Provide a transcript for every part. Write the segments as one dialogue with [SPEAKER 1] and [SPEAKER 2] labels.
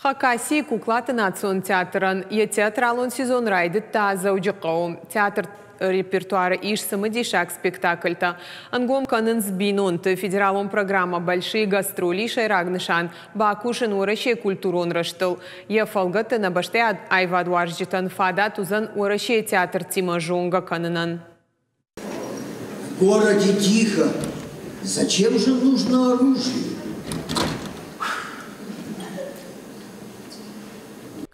[SPEAKER 1] Хакасийы куклаты национ театрӕн йӕ театралон сезон райдыдта Дзӕуджыхъӕуы. Театры репертуары ис цымыдисаг спектакльтӕ. Ӕнгом кӕнынц бинонты. Федералон программӕ «Большие гастроли» сӕйраг нысан бакусын Уӕрӕсейы культурон рӕзтыл. Йӕ фӕлгӕтты нӕ бӕстӕйы аивадуарзджытӕн фадат уыдзӕн Уӕрӕсейы театртимӕ зонгӕ кӕнынӕн.
[SPEAKER 2] В городе тихо. Зачем же нужно оружие?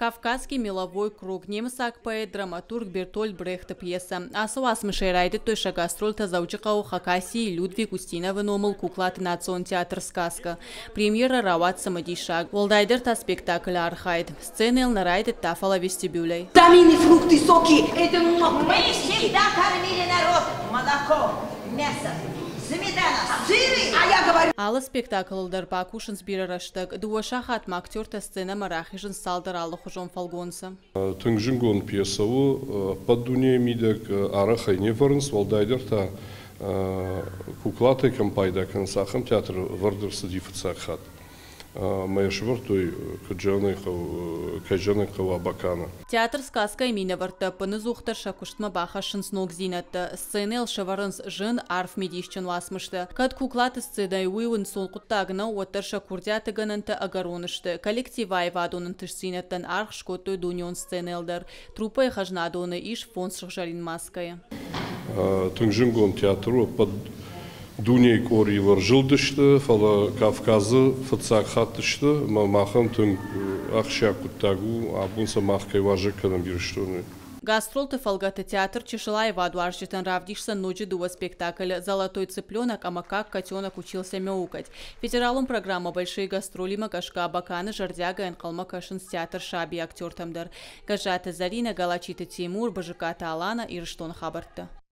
[SPEAKER 3] Кавказский меловой круг, немыцаг поэт, драматург Бертольд Брехты пьесӕ. Ацы уацмысӕй райдыдтой сӕ гастрольтӕ Дзӕуджыхъӕуы Хакасийы Людвиг Устиновы номыл куклаты национ театр «Сказка». Премьерӕ рауад цымыдисаг, уӕлдайдӕр та спектаклы архайд. Сценӕйыл нӕ райдыдта, фӕлӕ вестибюлӕй.
[SPEAKER 4] Витамины, фрукты, соки. Это Мы всегда кормили народ молоком, мясом, сметана, сыры. А я говорю...
[SPEAKER 3] Алы спектаклыл дӕр бакусынц бирӕ рӕстӕг. Дыууӕ сахатмӕ актертӕ сценӕмӕ рахизынц цалдӕр алыхуызон фӕлгонцы.
[SPEAKER 5] Тынг зынгонд пьесӕ у, ӕппӕт дунейы мидӕг арӕх ӕй не вӕрынц, уӕлдайдӕр та куклатӕй кӕм пайда кӕнынц, ахӕм театры ӕвӕрд ӕрцыди фыццаг хатт. Ӕмӕ йӕ сӕвӕрдтой кӕй зӕгъын ӕй хъӕуы, Абаканы.
[SPEAKER 3] Театр «Сказка»-йы минӕвӕрттӕ ӕппыныдзухдӕр сӕ куыстмӕ бахӕссынц ногдзинӕдтӕ. Сценӕйыл сӕвӕрынц зын, арф мидисджын уацмыстӕ. Кӕд куклаты сценӕйы уый ӕнцон хъуыддаг нӕу, уӕддӕр сӕ курдиаты гӕнӕнтӕ ӕгӕрон сты. Коллективы аивадон ӕнтыстдзинӕдтӕн аргъ скодтой дунеон сценӕйыл дӕр. Труппӕйы хӕзнадоны ис фондз сыгъзӕрин маскӕйы.
[SPEAKER 5] Тынг зынгонд театр у, ӕппӕт дунейы къорийыл ӕрзылдысты, фӕлӕ Кавказы фыццаг хатт сты, ӕмӕ махӕн тынг ахсджиаг хъуыддаг у, абон сӕ мах кӕй уазӕг кӕнӕм Ирыстоны.
[SPEAKER 3] Гастролты фӕлгӕты театр чысыл аивадуарзджытӕн равдисдзӕн ноджы дыууӕ спектаклы «Золотой цыпленок» ӕмӕ «Как котенок учился мяукать». Федералон программӕ «Большие гастроли»-мӕ гӕсгӕ Абаканы зӕрдиагӕй ӕнхъӕлмӕ кӕсынц театр «Саби» актертӕм дӕр. Гӕззаты Зӕринӕ, Галачиты Тимур, Бызыкаты Алана, Ирыстоны хабӕрттӕ.